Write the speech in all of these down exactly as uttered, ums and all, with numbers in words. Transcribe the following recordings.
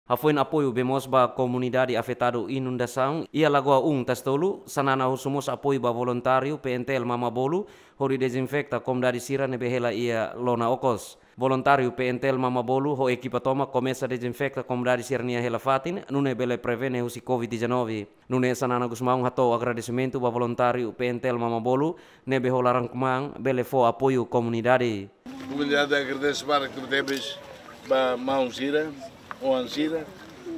Hafoin apoiu bee moos ba komunidade afetadu inundasaun iha Lagoa um Tasi Tolu, Xanana husu mós apoiu ba voluntáriu P N T L Mamabolo hodi dezinfeta komunidade sira ne'ebé hela iha lona okos. Voluntáriu P N T L Mamabolo ho ekipa tomak komesa dezinfeta komunidade sira-nia hela-fatin, nune'e bele prevene husi covid dezanove. Nune'e Xanana Gusmão hato'o agradesimentu ba voluntáriu P N T L Mamabolo ne'ebé ho laran-kmaan bele fó apoiu komunidade. Komunidade agradese barak tebetebes ba maun sira, oan sira,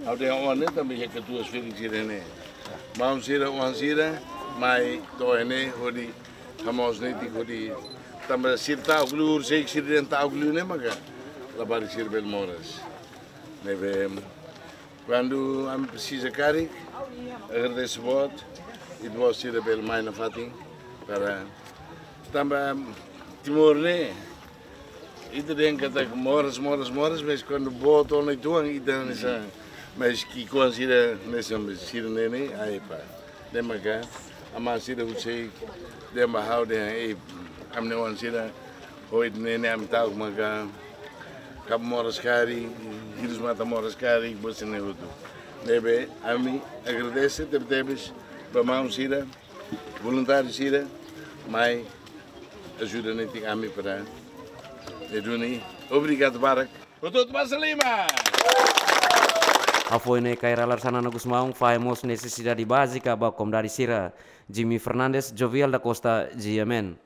ha'u dehan oan ne'e tanba iha katuas-ferik sira ne'e. Maun sira, oan sira mai to'o iha ne'e hodi hamoos netik hodi tanba sira ta'uk liu, horiseik sira dehan ta'uk liu ne'e maka labarik sira bele moras. Ne'ebé kuandu ami presiza karik, agradese boot, ita-boot sira bele mai nafatin para tanba Timor ne'e, ita dehan katak moras, moras, moras, mas kuandu boot ona uitoan ita hanesan, mas ki'ikoan sira hanesan sira ne'e ne'e, ai pá. Ne'e maka amá sira husi, dehan ba ha'u dehan, ei, ami-nia oan sira, ohin ne'e ne'e ami ta'uk maka kaba moras karik, hirus-matan moras karik, buat sira-ne'e hotu. Ne'ebé ami agradese tebetebes ba maun sira, voluntáriu sira mai ajuda netik ami para ne'e duni. Obrigadu barak. Hotu-hotu basa liman. Hafoin ne'e, Kay Rala Xanana Gusmão fahe mós nesesidade bázika ba komunidade sira. Jimmy Fernandes, Jovial da Costa, G M N.